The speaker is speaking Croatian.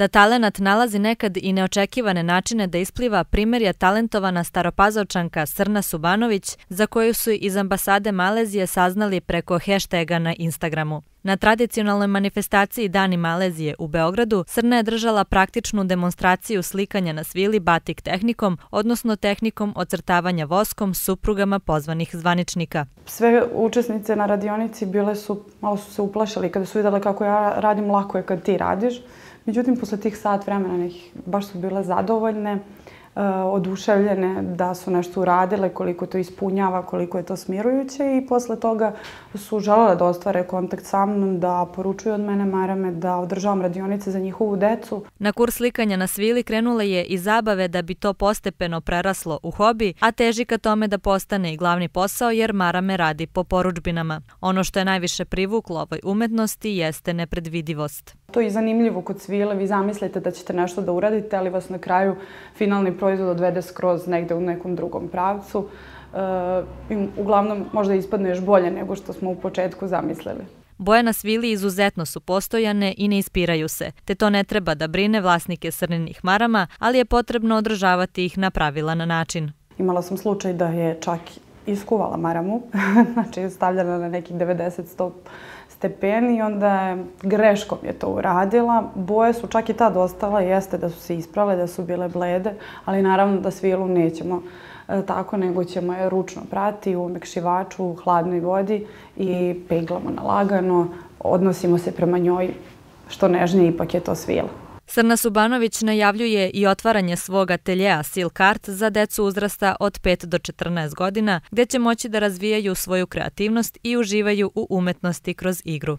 Da talenat nalazi nekad i neočekivane načine da ispliva, primer je talentovana Staropazovčanka Srna Subanović, za koju su iz ambasade Malezije saznali preko heštaga na Instagramu. Na tradicionalnoj manifestaciji Dani Malezije u Beogradu Srna je držala praktičnu demonstraciju slikanja na svili batik tehnikom, odnosno tehnikom ocrtavanja voskom suprugama pozvanih zvaničnika. Sve učesnice na radionici malo su se uplašili kada su vidjeli kako ja radim, lako je kad ti radiš. Međutim, posle tih sat vremena baš su bile zadovoljne, oduševljene da su nešto uradile, koliko to ispunjava, koliko je to smirujuće i posle toga su želele da ostvare kontakt sa mnom, da poručuju od mene marame, da održavam radionice za njihovu decu. Na kurs slikanja na svili krenula je i zabave da bi to postepeno preraslo u hobi, a teži ka tome da postane i glavni posao jer marame radi po porudžbinama. Ono što je najviše privuklo ovoj umetnosti jeste nepredvidivost. To je zanimljivo kod svile, vi zamislite da ćete nešto da uradite, ali vas na kraju finalni proizvod odvede skroz negde u nekom drugom pravcu. Uglavnom možda ispadne još bolje nego što smo u početku zamislili. Boje na svili izuzetno su postojane i ne ispiraju se, te to ne treba da brine vlasnike srninih marama, ali je potrebno održavati ih na pravilan način. Imala sam slučaj da je čak iskuvala maramu, znači stavljala na nekih 90-100 stepeni i onda je greškom je to uradila. Boje su čak i tad ostala, jeste da su se isprale, da su bile blede, ali naravno da svilu nećemo tako, nego ćemo je ručno prati u omekšivaču, u hladnoj vodi i peglamo na lagano. Odnosimo se prema njoj što nežnije, ipak je to svila. Srna Subanović najavljuje i otvaranje svog ateljea Silk Art za decu uzrasta od 5 do 14 godina, gdje će moći da razvijaju svoju kreativnost i uživaju u umetnosti kroz igru.